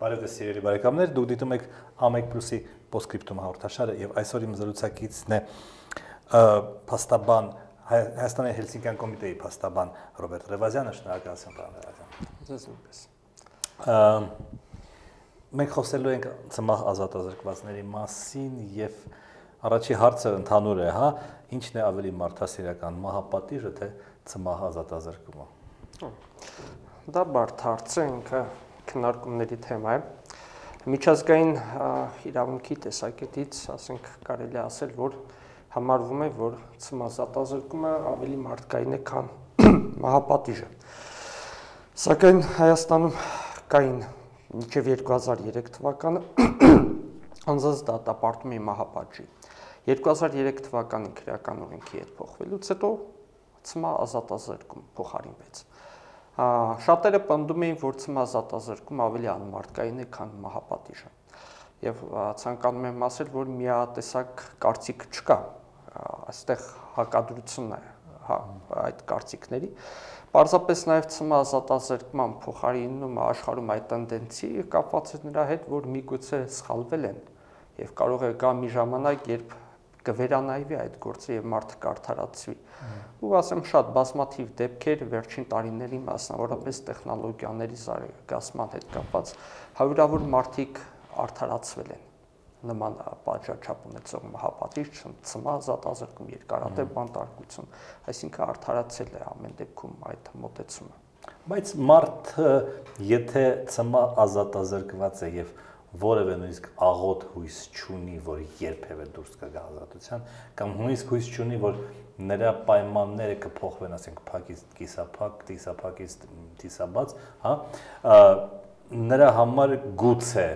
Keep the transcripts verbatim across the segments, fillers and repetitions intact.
Բարև ձեզ սիրելի բարեկամներ, դուք դիտում եք Ամեկ Պլյուսի Պոստսկրիպտում հաղորդաշարը եւ այսօր իմ զրուցակիցն է փաստաբան Հայաստանի Հելսինկյան կոմիտեի փաստաբան Ռոբերտ Ռևազյանը, շնորհակալություն պարոն Ռևազյան։ Ձեզ նույնպես։ Մենք խոսելու ենք ցմահ ազատազրկվածների մասին եւ առաջի հարցը ընդհանուր է, հա, ինչն է ավելի մարդասիրական, մահապատիժը թե ցմահ ազատազրկումը։ Դա բարդ հարց է, ինքը քննարկումների թեմա է։ Միջազգային իրավունքի տեսակետից, ասենք, կարելի է ասել, որ համարվում է, որ ցմահ ազատազրկումը ավելի մարդկային է, քան մահապատիժը։ Սակայն Հայաստանում կային մինչև երկու հազար երեք թվականը անձանց դատապարտումի մահապատժի։ երկու հազար երեք թվականի քրեական օրենքի հետ փոխվելուց հետո ցմահ ազատազրկում փոխարինվեց։ Շատերը պնդում էին, որ ցմահ ազատազրկումը ավելի անմարդկային է, քան մահապատիժը։ Եվ ցանկանում եմ ասել, որ միատեսակ կարծիք չկա, այստեղ հակադրությունն է այդ կարծիքների։ Պարզապես նաև ցմահ ազատազրկման փոխարինումը աշխարհում այդ տենդենսի կապված է նրա հետ, որ միգուցե սխալվել են եւ կարող է գա մի ժամանակ, երբ կվերանայվի այդ գործը եւ մարդը կարդարացվի։ Ու ասեմ, շատ բազմաթիվ դեպքեր վերջին տարիների մասնավորապես տեխնոլոգիաների զարգացման հետ կապված հարյուրավոր մարդիկ արդարացվել են նման պատժաչափ ունեցող մահապատիժ, ցմահ ազատազրկում, երկարատև բանտարկություն, այսինքն արդարացել է ամեն դեպքում այդ մոտեցումը։ Բայց մարդը, եթե ցմահ ազատազրկված է եւ որևէ նույնիսկ աղոտ հույս չունի, որ երբևէ դուրս կգա ազատության, կամ նույնիսկ հույս չունի, որ նրա պայմանները կփոխվեն, ասենք, փակից կիսափակ, կիսափակից կիսաբաց, հա, նրա համար գուցե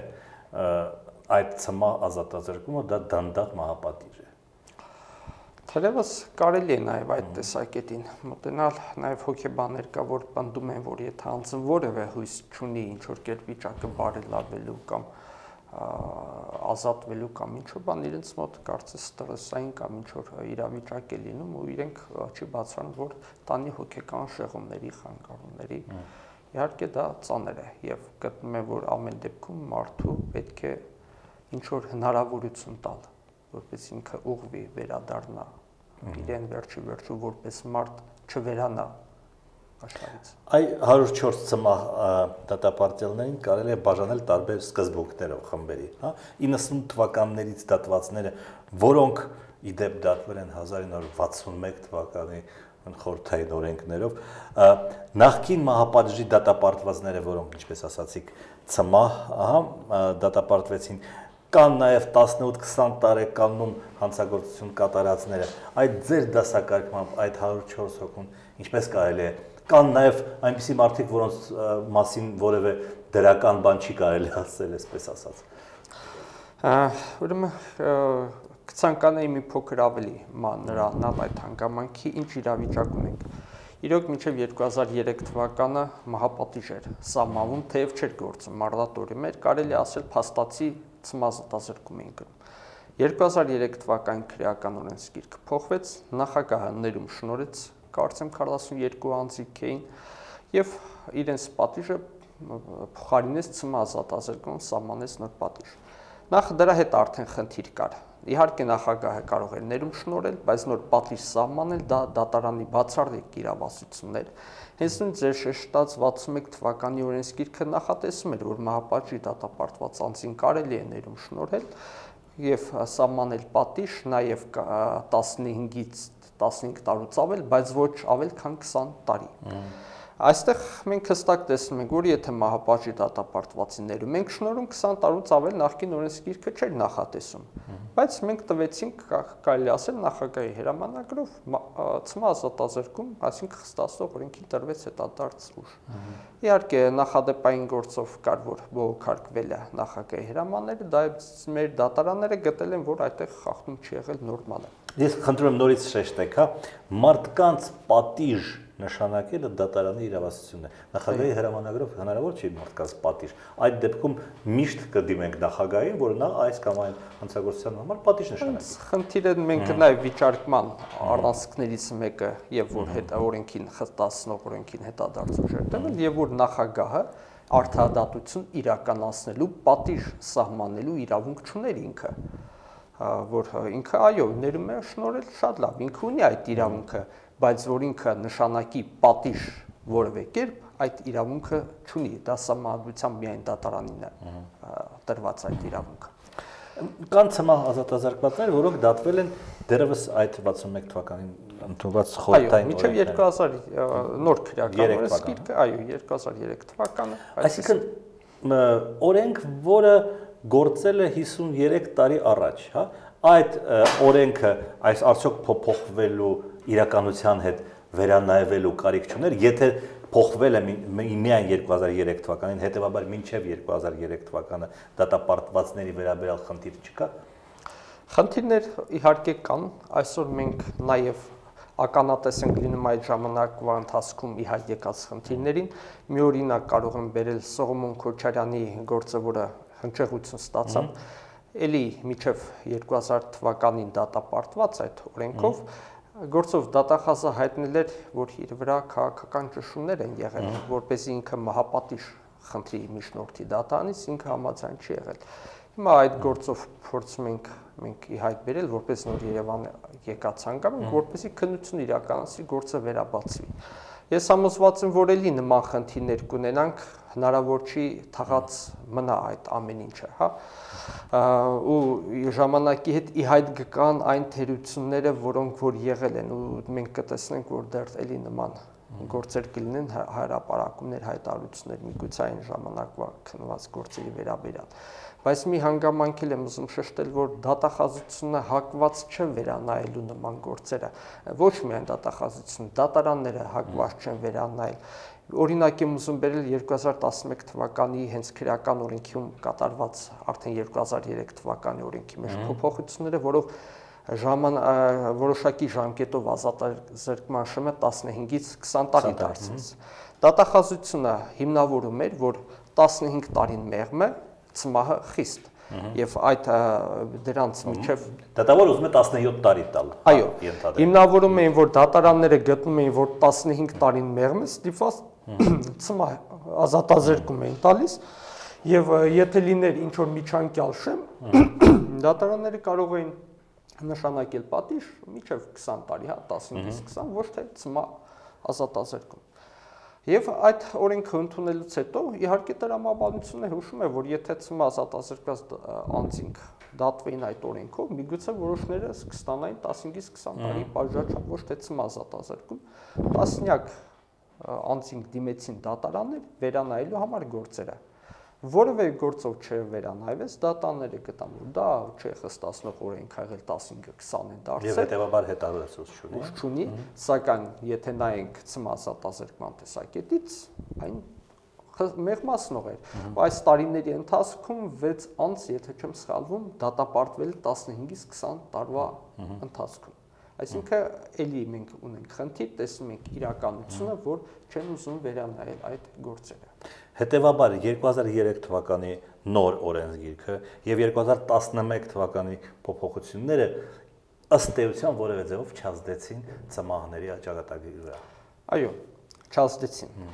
այդ ցմահ ազատազրկումը դա դանդաղ մահապատիժ է։ Թերևս կարելի է նաև այդ տեսակետին մոտենալ, նաև հոգեբաններ կա, որ պնդում են, որ եթե անձը որևէ հույս չունի ինչ-որ կերպ վիճակը բարելավելու կամ ազատվելու կամ ինչ-որ բան, իրենց մոտ կարծես ստրեսային կամ ինչ-որ իրավիճակ է լինում ու իրենք չի բացառում, որ տանի հոգեկան շեղումների, խանգարումների։ Իհարկե դա ծանր է եւ գտնում եմ, որ ամեն դեպքում մարդու պետք է ինչ-որ հնարավորություն տալ, որպես ինքը ուղղվի, վերադառնա իրեն վերջի վերջու որպես մարդ չվերանա աշխարհից։ Այ հարյուր չորս ցմահ դատապարտյալներին կարելի է բաժանել տարբեր սկզբունքներով խմբերի, հա, իննսուն թվականներից դատվածները, որոնք ի դեպ դատվել են հազար ինը հարյուր վաթսունմեկ թվականի խորհրդային օրենքներով, նախկին մահապատժի դատապարտվածները, որոնք, ինչպես ասացիք, ցմահ, ահա, դատապարտվեցին, կան նաև տասնութ քսան տարեկանում հանցագործություն կատարածները, այդ ձեր դասակարգմամբ այդ հարյուր չորս հոգուն ինչպես կարելի է, կան նաև այնպիսի մարդիկ, որոնց մասին որևէ դրական բան չի կարելի ասել, այսպես ասած։ Ուրեմն կցանկանայի մի փոքր ավելի մանրանալ այդ հանգամանքի, ինչ իրավիճակում ենք։ Իրոք մինչև երկու հազար երեք թվականը մահապատիժ էր սահմանվում, թեև չէր գործում մարտադորում էր, կարելի ասել փաստացի ցմահ ազատազրկում էին կրում։ երկու հազար երեք թվականի քրեական օրենսգիրքը փոխվեց, նախագահը ներում շնորհեց, կարծեմ քառասունյոթ անձիկ էին եւ իրենց պատիժը փոխարինեց ցմահ ազատազրկում, սահմանեց նոր պատիժ։ Նախ դրա հետ արդեն խնդիր կար։ Իհարկե նախագահը կարող էր ներում շնորհել, բայց նոր պատիժ սահմանել դա դատարանի բացառիկ իրավասությունն էր։ Հենց նույն ձեր շեշտած վաթսունմեկ թվականի օրենսգիրքը նախատեսում էր, որ մահապատժի դատապարտված անձին կարելի է ներում շնորհել եւ սահմանել պատիժ, նաեւ տասնհինգից տասնհինգ տարուց ավել, բայց ոչ ավել, քան քսան տարի։ Այստեղ մենք հստակ տեսնում ենք, որ եթե մահապատժի դատապարտվածին ներում ենք շնորհում քսան տարուց ավել նախկին օրենսգիրքը չէր նախատեսում, բայց մենք տվեցինք, կարելի ասել, նախագահի հրամանագրով ցմահ ազատազրկում, այսինքն խստացնող օրենքին տրվեց հետադարձ ուժ։ Իհարկե նախադեպային գործով կար, որ բողոքարկվել է նախագահի հրամանները, դա մեր դատարանները գտել են, որ այդտեղ խախտում չի եղել նորմալ է։ Ես խնդրում եմ նորից շեշտեք, հա, մարդկանց պատիժ նշանակելը դատարանի իրավասությունն է։ Նախագահի հրամանագրով հնարավոր չի մարդկանց պատիժ։ Այդ դեպքում միշտ կդիմենք նախագահին, որ նա այս կամ այն հանցագործության համար պատիժ նշանակի։ Խնդիրը մենք նաև վիճարկման առանցքներից մեկը, եւ որ հետ օրենքին խստացնող օրենքին հետադարձ ուժեր տվել, եւ որ նախագահը արդարադատություն իրականացնելու պատիժ սահմանելու իրավունք չուներ ինքը, որ ինքը այո ներում է շնորհել շատ լավ, ինքը ունի այդ իրավունքը, բայց որ ինքը նշանակի պատիժ որևէ կերպ այդ իրավունքը չունի, դա սահմանադրությամբ միայն դատարանին է տրված այդ իրավունքը։ Կան ցմահ ազատազրկվածներ, որոնք դատվել են դեռևս այդ վաթսունմեկ թվականին ընդունված խորհրդային օրենքները։ Այո, մինչև երկու հազար նոր քրեական սկիզբը, այո, երկու հազար երեք թվականը։ Այսինքն օրենք, որը գործել է հիսուներեք տարի առաջ, հա, այդ օրենքը այս արդյոք փոփոխվելու իրականության հետ վերանայվելու կարիք չուներ, եթե փոխվել է միայն երկու հազար երեք թվականին, հետևաբար մինչև երկու հազար երեք թվականը դատապարտվածների վերաբերյալ խնդիր չկա։ Խնդիրներ իհարկե կան, այսօր մենք նաև ականատես ենք լինում այդ ժամանակվա ընթացքում ի հայտ եկած խնդիրներին։ Մի օրինակ կարող եմ բերել Սողոմոն Քոչարյանի գործը, որը հնչեղություն ստացավ, էլի մինչև երկու հազար թվականին դատապարտված այդ օրենքով գործով դատախազը հայտնել էր, որ իր վրա քաղաքական ճնշումներ են եղել, որպեսզի ինքը մահապատիժ խնդրի միջնորդի դատարանից, ինքը համաձայն չի եղել։ Հիմա այդ գործով փորձում ենք մենք ի հայտ բերել, որպես նոր Երևան եկած հանգամ, որպեսզի քննություն իրականացվի, գործը վերաբացվի։ Ես համոզված եմ, որ էլի նման խնդիրներ կունենանք, հնարավոր չի թաղած մնա այդ ամեն ինչը, հա։ Ու ժամանակի հետ ի հայտ գան այն թերությունները, որոնք որ եղել են, ու մենք կտեսնենք, որ դեռ էլի նման գործեր կլինեն, հրապարակումներ, հայտարարություններ միգուցե այն ժամանակվա քննված գործերի վերաբերյալ։ Բայց մի հանգամանք եմ ուզում շեշտել, որ դատախազությունը հակված չէ վերանայելու նման գործերը, ոչ միայն դատախազությունը, դատարանները հակված չեն վերանայել։ Օրինակ եմ ուզում բերել երկու հազար տասնմեկ թվականի հենց քրեական օրենքում կատարված արդեն երկու հազար երեք թվականի օրենքի մեջ փոփոխությունները, որով ժաման որոշակի ժամկետով ազատազրկման շեմը տասնհինգից քսան տարի դարձրեց։ Դատախազությունը հիմնավորում էր, որ տասնհինգ տարին մեղմ է, ցմահը խիստ, եւ այդ դրանց միջև դատավոր ուզում է տասնյոթ տարի տալ։ Այո, հիմնավորում էին, որ դատարանները գտնում էին, որ տասնհինգ տարին մեղմ է, ստիպված ցմահ ազատազրկում էին տալիս, եւ եթե լիներ ինչ որ միջանկյալ շեմ, դատարանները կարող էին նշանակել պատիժ միջև քսան տարի, հա, տասնհինգից քսան, ոչ թե ցմահ ազատազրկում։ Եվ այդ օրենքը ընդունելուց հետո իհարկե տրամաբանությունը հուշում է, որ եթե ցմահ ազատազրկված անձինք դատվեին այդ օրենքով, միգուցե որոշները կստանային տասնհինգից քսան տարի պատժաչափ, ոչ թե ցմահ ազատազրկում, տասնյակ անձինք դիմեցին դատարաններ վերանայելու համար գործերը։ Որևէ գործով չվերանայվեց, դատաները գտան, որ դա չէ խստացնող օրենք ա եղել տասնհինգը քսան են դարձել։ Եվ հետևաբար հետարդեցուց չունի։ Չունի, սակայն եթե նայենք ցմահ ազատազրկման տեսակետից, այն մեղմացնող էր։ Այս տարիների ընթացքում վեց անձ, եթե չեմ սխալվում, դատապարտվել տասնհինգից քսան տարվա ընթացքում։ Այսինքն էլի մենք ունենք խնդիր, տեսնում ենք իրականությունը, որ չեն ուզում վերանայել այդ գործերը։ Հետևաբար երկու հազար երեք թվականի նոր օրենսգիրքը եւ երկու հազար տասնմեկ թվականի փոփոխությունները ըստ էության որևէ ձևով չազդեցին ցմահների ճակատագրի վրա։ Այո, չազդեցին,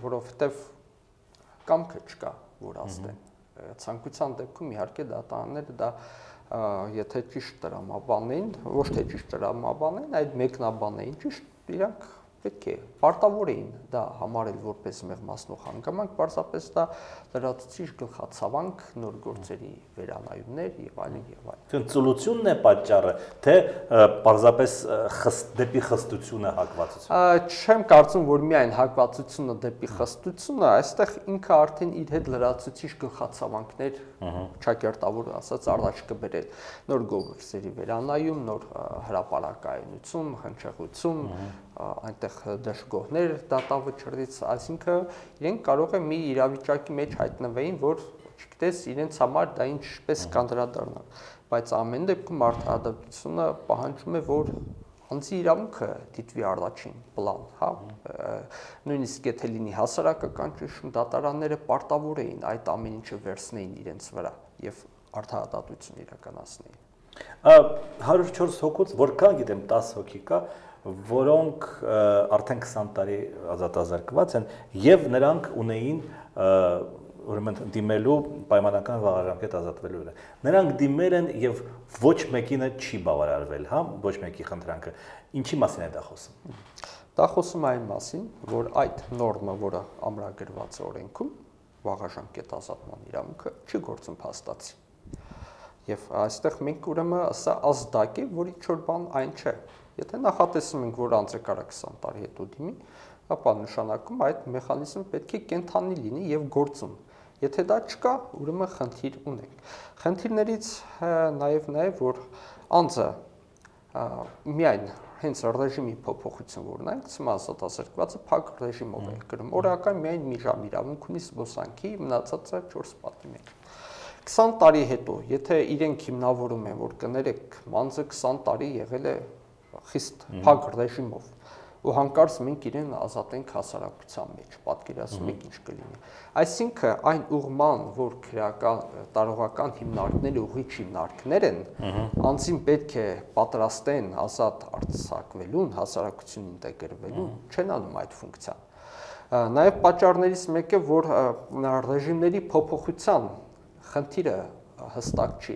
որովհետեւ կամքը չկա, որ ազդեն։ Ցանկության դեպքում իհարկե դատարանները դա եթե ճիշտ տրամաբանեն, ոչ թե ճիշտ տրամաբանեն, այլ մեկնաբանեն ճիշտ, իրանք պետք է պարտավոր էին դա համարել որպես մեղմացնող հանգամանք, պարզապես դա լրացուցիչ գլխացավանք, նոր գործերի վերանայումներ եւ այլն եւ այլն։ Ծուլությունն է պատճառը, թե պարզապես դեպի խստությունը հակվածությունը։ Չեմ կարծում, որ միայն հակվածությունը դեպի խստությունը, այստեղ ինքը արդեն իր հետ լրացուցիչ գլխացավանքներ ճակերտավոր ասած առաջ կբերել նոր գործերի վերանայում, նոր հրապարակայնություն, հնչեղություն, այնտեղ դժգոհներ դատավճռից, այսինքն իրենք կարող է մի իրավիճակի մեջ հայտնվեին, որ չգիտես իրենց համար դա ինչպես կանդրադառնալ, բայց ամեն դեպքում արդարադատությունը պահանջում է, որ անձի իրավունքը դիտվի առաջին պլան, հա, նույնիսկ եթե լինի հասարակական ճնշում, դատարանները պարտավոր էին այդ ամեն ինչը վերցնեին իրենց վրա եւ արդարադատություն իրականացնեին։ հարյուր չորս հոգուց, որքան գիտեմ տասը հոգի կա, որոնք արդեն քսան տարի ազատազրկված են եւ նրանք ունեին ուրեմն դիմելու պայմանական վաղաժամկետ ազատվելու վրա։ Նրանք դիմել են եւ ոչ մեկինը չի բավարարվել, հա, ոչ մեկի խնդրանքը։ Ինչի մասին է դա խոսում։ Դա խոսում է այն մասին, որ այդ նորմը, որը ամրագրված է օրենքում, վաղաժամկետ ազատման իրավունքը չի գործում փաստացի։ Եվ այստեղ մենք ուրեմն սա ազդակ է, որ ինչ-որ բան այն չէ։ Եթե նախատեսում ենք, որ անձը կարա քսան տարի հետո դիմի, ապա նշանակում այդ մեխանիզմը պետք է կենթանի լինի եւ գործում։ Եթե դա չկա, ուրեմն խնդիր ունենք։ Խնդիրներից նաեւ նաեւ որ անձը միայն հենց ռեժիմի փոփոխություն որն է, ցմազատազրկվածը փակ ռեժիմով է գրում։ Օրական միայն մի ժամ իրավունք ունի զբոսանքի, մնացածը չորս պատի մեջ։ քսան տարի հետո, եթե իրենք հիմնավորում են, որ կներեք, անձը քսան տարի եղել է խիստ փակ ռեժիմով, ու հանկարծ մենք իրեն ազատենք հասարակության մեջ, պատկերացնում եք ինչ կլինի։ Այսինքն այն ուղղման, որ քրեական տարողական հիմնարկները ուղիչ հիմնարկներ են, անձին պետք է պատրաստեն ազատ արձակվելուն, հասարակություն ինտեգրվելուն, չեն անում այդ ֆունկցիան։ Նաև պատճառներից մեկը, որ ռեժիմների փոփոխության խնդիրը հստակ չի։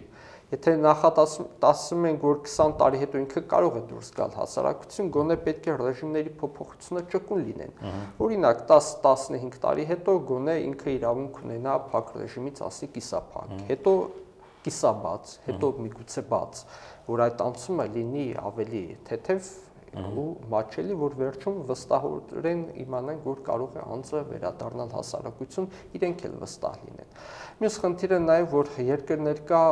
Եթե նախատեսում ենք, որ քսան տարի հետո ինքը կարող է դուրս գալ հասարակություն, գոնե պետք է ռեժիմների փոփոխությունը ճկուն լինեն։ Օրինակ տաս տասնհինգ տարի հետո գոնե ինքը իրավունք ունենա փակ ռեժիմից ասի կիսափակ, հետո կիսաբաց, հետո միգուցե բաց, որ այդ անցումը լինի ավելի թեթև ու մաչելի, որ վերջում վստահորեն իմանանք, որ կարող է անձը վերադառնալ հասարակություն, իրենք էլ վստահ լինեն։ Մյուս խնդիրը նաև, որ երկրներ կա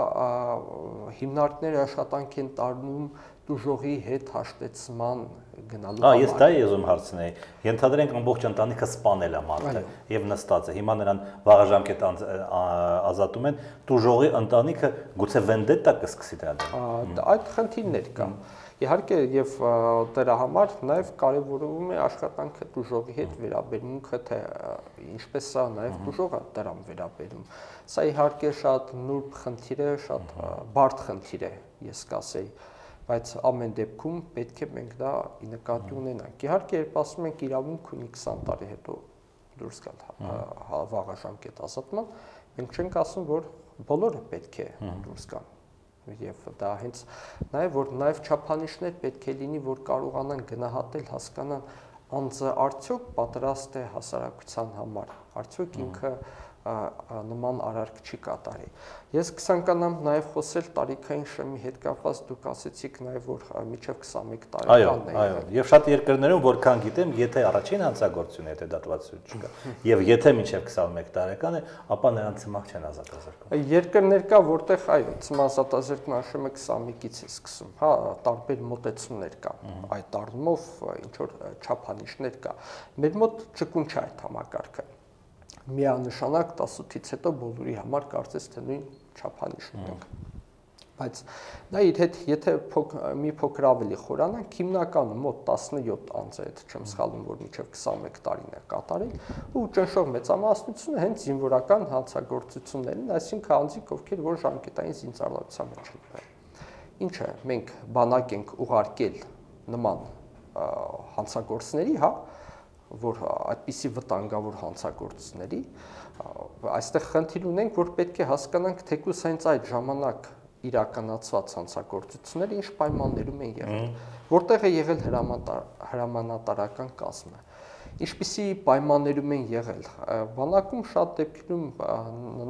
հիմնարկները աշխատանք են տարնում դուժողի հետ հաշտեցման գնալու համար։ Ահա, ես դա եզում հարցնեի։ Ենթադրենք ամբողջ ընտանիքը սպանել է մարդը եւ նստած է։ Հիմա նրան վաղաժամկետ ազատում են, դուժողի ընտանիքը գուցե վենդետա կսկսի դրա դեմ։ Այդ խնդիրներ կան։ Իհարկե եւ դրա համար նաեւ կարեւորվում է աշխատանքը դուժողի հետ վերաբերմունքը, թե ինչպես է նաեւ դուժողը դրան վերաբերում։ Սա իհարկե շատ նուրբ խնդիր է, շատ բարդ խնդիր է, ես կասեի, բայց ամեն դեպքում պետք է մենք դա նկատի ունենանք։ Իհարկե, երբ ասում ենք իրավունք ունի քսան տարի հետո դուրս գալ վաղաժամկետ ազատման, մենք չենք ասում, որ բոլորը պետք է դուրս գան։ Եվ դա հենց նաև որ նաև չափանիշներ պետք է լինի, որ կարողանան գնահատել, հասկանան անձը արդյոք պատրաստ է հասարակության համար, արդյոք ինքը նման արարք չի կատարի։ Ես կցանկանամ նաև խոսել տարիքային շեմի հետ կապված, դուք ասեցիք նաև որ մինչև քսանմեկ տարեկանն է։ Այո, այո, եւ շատ երկրներում որքան գիտեմ, եթե առաջին հանցագործություն է, եթե դատվածություն չկա, եւ եթե մինչև քսանմեկ տարեկան է, ապա նրանց ցմահ չեն ազատազրկում։ Երկրներ կա, որտեղ այո, ցմահ ազատազրկման շեմը քսանմեկից է սկսում, հա, տարբեր մոտեցումներ կա։ Այդ առումով ինչ որ չափանիշներ կա։ Մեր մոտ ճկուն չէ այդ համակարգը։ Միանշանակ տասնութից հետո բոլորի համար կարծես թե նույն չափանիշն ունենք։ Բայց դա իր հետ եթե մի փոքր ավելի խորանանք, հիմնականում մոտ տասնյոթ անձ է, եթե չեմ սխալվում, որ մինչև քսանմեկ տարին է կատարել, ու ճնշող մեծամասնությունը հենց զինվորական հանցագործություններն են, այսինքն անձիկ, ովքեր որ ժամկետային զինծառայության մեջ են։ Ինչը մենք բանակ ենք ուղարկել նման հանցագործների, հա, որ այդպիսի վտանգավոր հանցագործների, այստեղ խնդիր ունենք, որ պետք է հասկանանք թեկուզ հենց այդ ժամանակ իրականացված հանցագործությունները ինչ պայմաններում են եղել, որտեղ է եղել հրամանատարական կազմը, ինչպիսի պայմաններում են եղել։ Բանակում շատ դեպքերում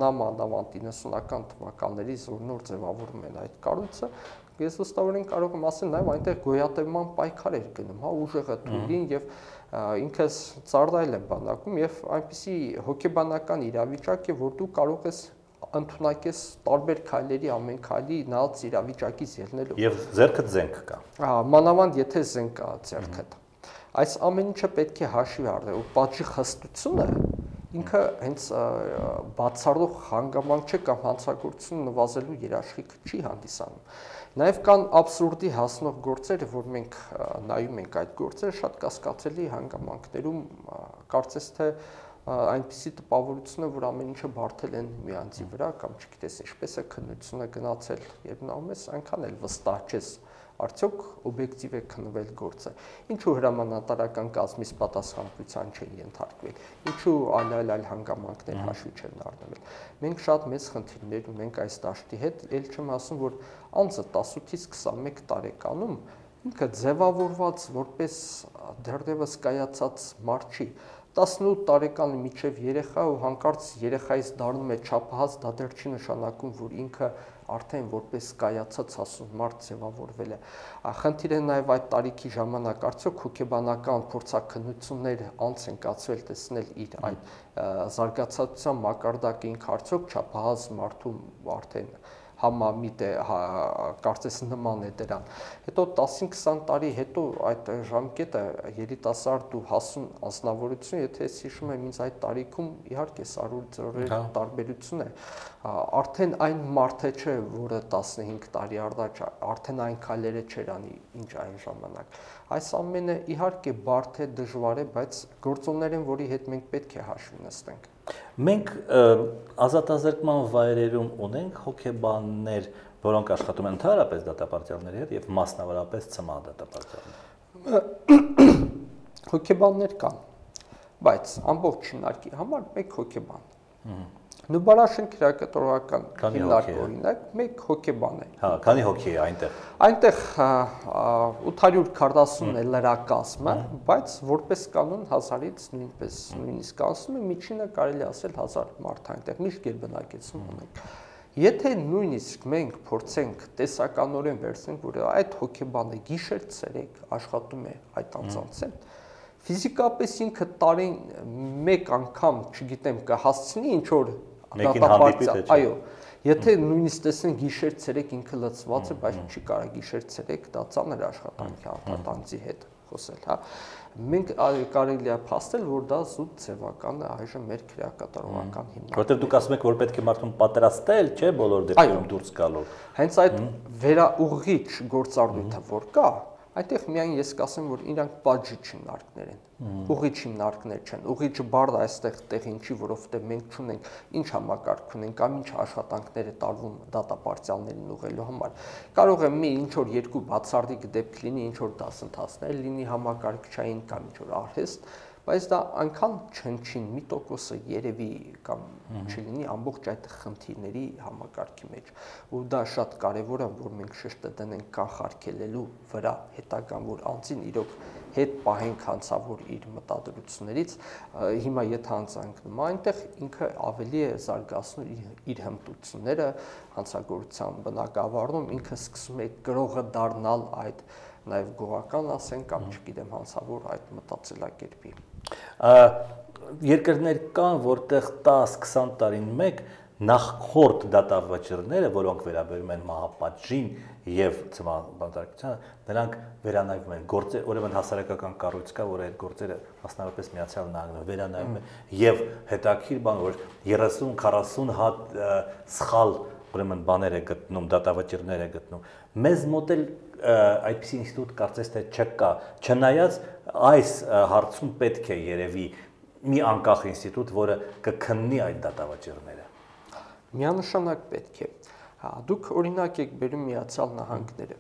նամանավանդ իննսունական թվականներից, որ նոր ձևավորում են այդ կառույցը, ես վստահորեն կարող եմ ասել, նաև այնտեղ գոյատևման պայքար էր գնում, հա, ուժեղը թույլին եւ ինքս ծառայել եմ բանակում եւ այնպիսի հոգեբանական իրավիճակ է, որ դու կարող ես ընդունակես տարբեր քայլերի ամեն քայլի նայած իրավիճակից ելնելով։ Եվ ձեռքդ զենք կա։ Հա, մանավանդ եթե զենք կա ձեռքդ։ Այս ամեն ինչը պետք է հաշվի առնել, ու պատժի խստությունը ինքը հենց բացառող հանգամանք չէ կամ հանցագործություն նվազելու երաշխիք չի հանդիսանում։ Նաև կան աբսուրդի հասնող գործեր, որ մենք նայում ենք այդ գործերը շատ կասկածելի հանգամանքներում, կարծես թե այնպիսի տպավորություն է, որ ամեն ինչը բարդել են մի անձի վրա կամ չգիտես ինչպես է քննությունը գնացել, երբ նայում ես այնքան էլ վստահ չես արդյոք օբյեկտիվ է քննվել գործը, ինչու հրամանատարական կազմից պատասխանատվության չեն ենթարկվել, ինչու այլ այլ այլ հանգամանքներ հաշվի չեն առնվել։ Մենք շատ մեծ խնդիրներ ունենք այս դաշտի հետ, ել չեմ ասում, որ անձը տասնութից քսանմեկ տարեկանում ինքը ձևավորված որպես դեռևս կայացած մարդ չի, տասնութ տարեկանի միջև երեխա ու հանկարծ երեխայից դառնում է չափահաս, դա դեռ չի նշանակում, որ ինքը արդեն որպես կայացած հասուն մարդ ձևավորվել է։ Խնդիրը նաև այդ տարիքի ժամանակ արդյոք հոգեբանական փորձաքննություններ անց են կացվել տեսնել իր այդ զարգացածության մակարդակը ինքը արդյոք չափահաս մարդու արդեն համամիտ է, կարծես նման է դրան։ Հետո տասին քսան տարի հետո այդ ժամկետը երիտասարդ ու հասուն անձնավորություն, եթե ես հիշում եմ ինձ այդ տարիքում իհարկե սարսուռ տարբերություն է, արդեն այն մարդը չէ, որը տասնհինգ տարի առաջ արդեն այն քայլերը չէր անի, ինչ այն ժամանակ։ Այս ամենը իհարկե բարդ է, դժվար է, բայց գործոններ են, որի հետ մենք պետք է հաշվի նստենք։ Մենք ազատազրկման վայրերում ունենք հոգեբաններ, որոնք աշխատում են ընդհանրապես դատապարտյալների հետ եւ մասնավորապես ցմահ դատապարտյալներ։ Հոգեբաններ կան, բայց ամբողջ շնարհքի համար մեկ հոգեբան։ Նուբարաշեն քրեակատորական հիմնարկ օրինակ մեկ հոգեբան է։ Հա, քանի հոգի է այնտեղ։ Այնտեղ ութ հարյուր քառասուն է լրակազմը, բայց որպես կանոն հազարից նույնպես նույնիսկ ասում եմ միջինը կարելի ասել հազար մարդ այնտեղ միշտ գերբնակեցում ունենք։ Եթե նույնիսկ մենք փորձենք տեսականորեն վերցնենք, որ այդ հոգեբանը գիշեր-ցերեկ աշխատում է այդ անձանց հետ, ֆիզիկապես ինքը տարին մեկ անգամ, չգիտեմ, կհասցնի ինչ որ դատապարտել, այո, եթե նույնիսկ տեսնեն գիշեր-ցերեկ ինքը լցված է, բայց չի կարող գիշեր-ցերեկ դա ծանր աշխատանքի արտանձի հետ խոսել, հա։ Մենք կարելի է փաստել, որ դա զուտ ձևական է այժմ մեր քրեակատարողական հիմնարկը։ Որտեւ դուք ասում եք, որ պետք է մարդուն պատրաստել, չէ, բոլոր դեպքերում դուրս գալու։ Հենց այդ վերաուղղիչ գործառույթը որ կա, այդտեղ միայն ես կասեմ, որ իրանք պատժիչ հիմնարկներ են, ուղղիչ հիմնարկներ չեն։ Ուղղիչը բառը այստեղ տեղին չի, որովհետև մենք չունենք ինչ համակարգ ունենք կամ ինչ աշխատանքներ է տարվում դատապարտյալներին ուղղելու համար։ Կարող է մի ինչ որ երկու բացառիկ դեպք լինի, ինչ որ դասընթացներ լինի համակարգչային կամ ինչ որ արհեստ, բայց դա այնքան չնչին մի տոկոսը երևի կամ չլինի ամբողջ այդ խնդիրների համակարգի մեջ։ Ու դա շատ կարևոր է, որ մենք շեշտը դնենք կանխարգելելու վրա հետագան, որ անձին իրոք հետ պահենք հանցավոր իր մտադրություններից, հիմա եթե հանցանքնում այնտեղ ինքը ավելի է զարգացնում իր հմտությունները հանցագործության բնակավարում, ինքը սկսում է գրողը դառնալ այդ նաև գողական ասեն կամ չգիտեմ հանցավոր այդ մտածելակերպի։ Երկրներ կան, որտեղ տաս քսան տարին մեկ նախորդ դատավճիռները, որոնք վերաբերում են մահապատժին եւ ցմահ, նրանք վերանայվում են գործեր, ուրեմն հասարակական կառույց կա, որ այդ գործերը մասնավորապես Միացյալ Նահանգներում վերանայվում են եւ հետաքրիր բան, որ երեսուն քառասուն հատ սխալ ուրեմն բաներ է գտնում, դատավճիռներ է գտնում։ Մեզ մոտ էլ այդպիսի ինստիտուտ կարծես թե չկա, չնայած այս հարցում պետք է երևի մի անկախ ինստիտուտ, որը կքննի այդ դատավճիռները։ Միանշանակ պետք է։ Հա, դուք օրինակ եք բերում Միացյալ Նահանգները։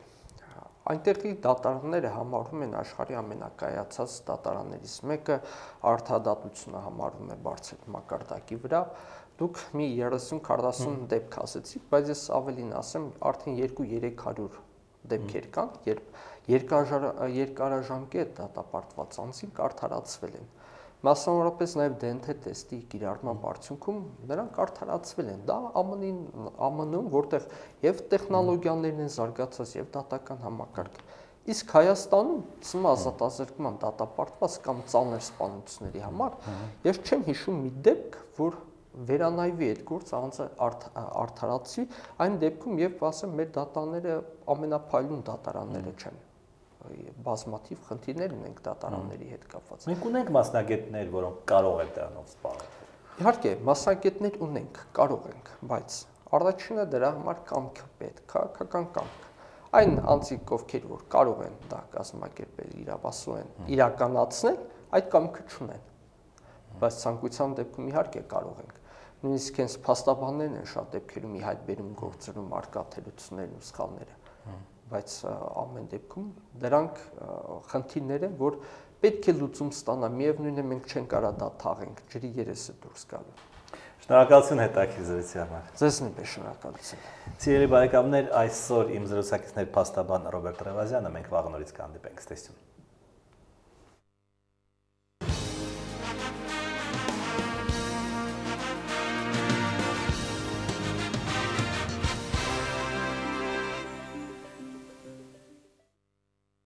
Այնտեղի դատարանները համարվում են աշխարհի ամենակայացած դատարաններից մեկը, արդարադատությունը համարվում է բարձր մակարդակի վրա։ Դուք մի երեսուն քառասուն դեպք ասեցիք, բայց ես ավելին ասեմ, արդեն երկու-երեք հարյուր դեպքեր կան, երբ երկարաժամկետ դատապարտված անձինք արդարացվել են։ Մասնավորապես նաև դե են թե տեստի կիրառման արդյունքում նրանք արդարացվել են։ Դա ԱՄՆ-ում, որտեղ եւ տեխնոլոգիաներն են զարգացած եւ դատական համակարգը։ Իսկ Հայաստանում ցմահ ազատազրկման դատապարտված կամ ծանր սպանությունների համար ես չեմ հիշում մի դեպք, որ վերանայվի այդ գործը անձը արդարացվի, այն դեպքում եւ ասեմ մեր դատարանները ամենափայլուն դատարանները չեն։ Բազմաթիվ խնդիրներ ունենք դատարանների հետ կապված։ Մենք ունենք մասնագետներ, որոնք կարող են դրանով զբաղվել։ Իհարկե, մասնագետներ ունենք, կարող ենք, բայց առաջինը դրա համար կամք պետք, քաղաքական կամք։ Այն անձիկ, ովքեր որ կարող են դա կազմակերպել, իրավասու են, իրականացնել, այդ կամքը չունեն։ Բայց ցանկության դեպքում իհարկե կարող ենք։ Նույնիսկ հենց փաստաբաններն են շատ դեպքերում ի հայտ բերում գործերում արկա թերություններն ու սխալները։ բայց ամեն դեպքում դրանք խնդիրներ են, որ պետք է լուծում ստանա, միևնույն է մենք չենք կարա դա թաղենք, ջրի երեսը դուրս գալու։ Շնորհակալություն հետաքրքիր զրույցի համար։ Ձեզ նույնպես շնորհակալություն։ Սիրելի բարեկամներ, այսօր իմ զրուցակիցներ փաստաբան Ռոբերտ Ռևազյանը, մենք վաղ նորից կհանդիպենք, ցտեսություն։